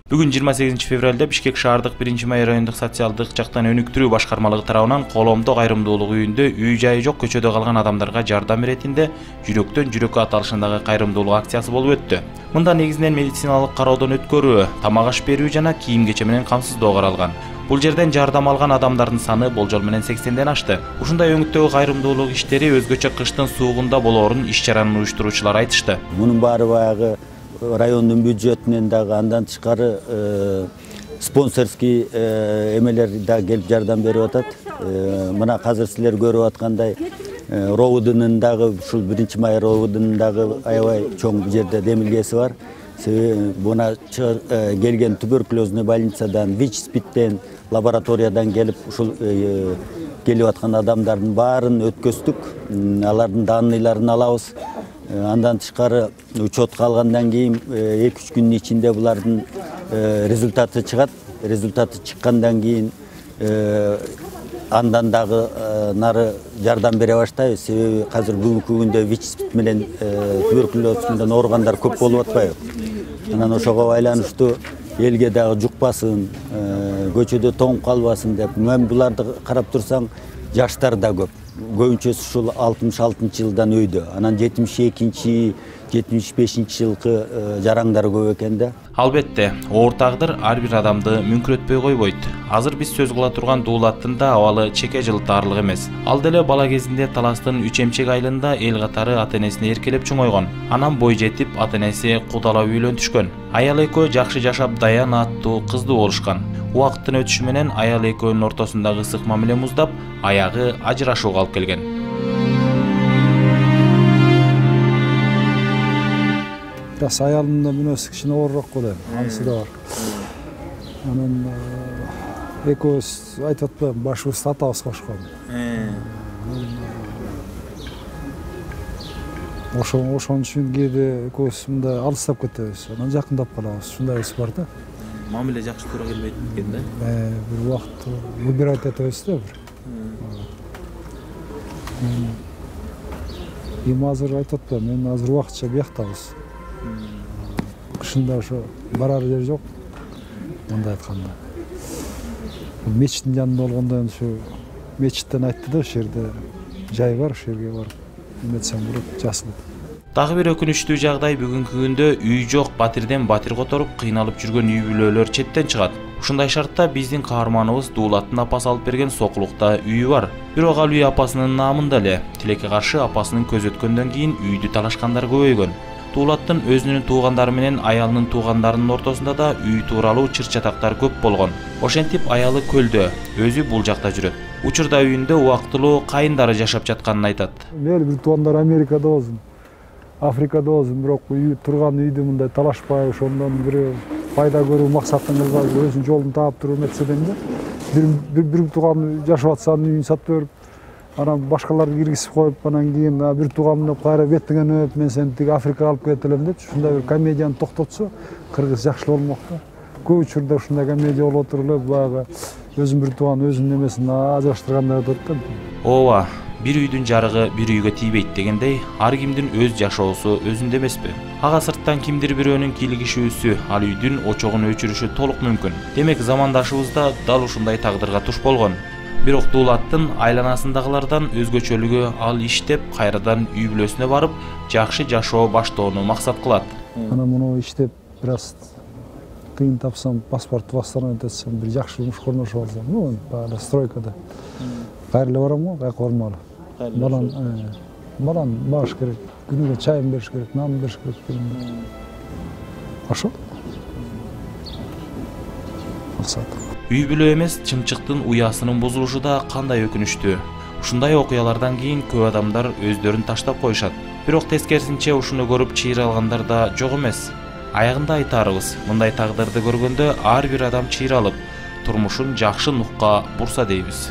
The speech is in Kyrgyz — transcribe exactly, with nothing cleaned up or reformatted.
Бүгүн жыйырма сегизинчи февралда Бишкек шаардык биринчи май райондук социалдык жактан өнүктүрүү башкармалыгы тарабынан Коломдо кайрымдуулук үйүндө үй жайы жок көчөдө калган адамдарга жардам иретинде жүрөктөн жүрөккө аталышындагы кайрымдуулук акциясы болуп өттү. Мында негизинен медициналык кароодон өткөрүү, тамак аш берүү жана кийим кече менен камсыздоо каралган. Бул жерден жардам алган адамдардын саны болжол менен сексенден ашты. Ушундай өңүттөгү кайрымдуулук иштери өзгөчө кыштын суугунда болоорун иш-чаранын уюштуруучулары айтышты. Мунун баары баягы райондун бюджетинен дагы андан тышкары спонсорский эмелер да келип жардам берип атат. Мына азыр силер көрүп аткандай ровдунун дагы ушул биринчи май ровдунун дагы аябай чоң жерде демилгеси бар. Себеби мына келген туберкулезный больницадан, ВИЧ-СПИДтен, лабораториядан келип ушул келип аткан адамдардын баарын өткөздүк. Алардын данныйларын алабыз. Андан тышкары учетка алгандан кийин эки үч күндүн ичинде булардын результаты чыгат. Результаты чыккандан кийин андан дагы нары жардам бере баштайбыз. Себеби азыр бүгүнкү күндө ВИЧ-СПИД менен туберкулез менен ооругандар көп болуп атпайбы? Анан ошого байланыштуу элге дагы жукпасын, көчөдө тоңуп калбасын деп. Мен буларды карап турсаң, жаштар да көп. Көбүнчөсү ушул алтымыш алтынчы жылдан өйдө. Анан жетимиш экинчи, жетимиш бешинчи жылкы жараңдар көп экен да. Албетте, оор тагдыр ар бир адамды мүңкүрөтпөй койбойт. Азыр биз сөз кыла турган Дуулаттын да абалы чеке жылтаарлык эмес. Ал деле бала кезинде Таластын үч эмчек айылында эл катары ата-энесине эркелеп чоңойгон. Анан бой жетип ата-энеси кудалап үйлөнтүшкөн. Аял экөө жакшы жашап даян аттуу кыздуу болушкан. Убакыттын өтүшү менен аял экөөнүн ортосундагы ысык мамиле муздап, аягы ажырашууга алып келген. Biraz ayalımda münasip kişine uğrarak kolay, anısı da var. Onun ekos aytatlı başı statavız koşkan. Oşon oşon için gidi ekosunda alыстап кетебиz. Анан жакындап калабыз. Шундай ис бар да. Мамиле жакшы туура келбейт экен да. Э, бир убакыт выбирать этебиз да бир. Эми азыр айтат да, мен азыр убакытча бияктабыз. Кышында ошо барар жер жок. Мындай айтканда. Мечиттин жанында болгондон ушу мечиттен айтты да, ошол жерде жай бар, ошол жерге барып эметсең болот, жасылып. Дагы бир өкүнүчтүү жагдай бүгүнкү күндө үй жок батирден батир которуп кыйналып жүргөн үй бүлөлөр четтен чыгат. Ушундай шартта биздин каарманыбыз Дуулаттын апасы алып берген Сокулукта үйү бар. Бирок ал үй апасынын наамында эле. Тилекке каршы апасынын көз өткөндөн кийин үйдү талашкандар көбөйгөн. Дуулаттын өзүнүн туугандары менен аялынын туугандарынын ортосунда да үй тууралуу чыр-чатактар көп болгон. Ошентип аялы көлдө, өзү бул жакта жүрөт. Учурда үйүндө убактылуу кайындары жашап жатканын айтат. Мээли бир туугандар Америкада болсун, Африкада болсун, бирок үй турган үйдү мындай талашпай, ошондон бир пайда көрүү максатын кылган өзүнүн жолун таап туруп эметседен да. Бир бир тууган жашап атса үйүн сатып берип, анан башкаларды киргизип коюп, анан кийин бир тууган менен кайра беттиген өп, мен сени тиги Африкага алып кетелем деп, ушундай бир комедияны токтотсо, кыргыз жакшы болмок да. Көп учурда ушундай комедия болуп отуруп эле, баягы өзүн бир тууган өзүнүн эмесин ажыраштыргандар айтат да. Ооба, бир үйдүн жарыгы бир үйгө тийбейт дегендей, ар кимдин өз жашоосу өзүндө эмеспи? Ага сырттан кимдир бирөөнүн кийлигишүүсү, ал үйдүн очогун өчүрүшү толук мүмкүн. Демек замандашыбыз да дал ушундай тагдырга туш болгон. Бирок Дуулаттын айланасындагылардан өзгөчөлүгү ал иштеп, кайрадан үй бүлөсүнө барып, жакшы жашоо баштоону максат кылат. Анан муну иштеп, бир аз тыйын тапсам, паспорт восстановить этсем, бир жакшы жумушка орношуп алсам, ну, баягы стройкада. Кайра эле барам го, кайка бармалы. Балан, балан багыш керек, күнүгө чайын бериш керек, нан бериш керек. Ошо. Максат. Үй бүлө эмес, чымчыктын уясынын бузулушу да кандай өкүнүчтүү. Ушундай окуялардан кийин көп адамдар өздөрүн таштап коюшат. Бирок тескерисинче ушуну көрүп чыйыр алгандар да жок эмес. Аягында айтарыбыз, мындай тагдырды көргөндө ар бир адам чыйыр алып, турмушун жакшы нукка бурса дейбиз.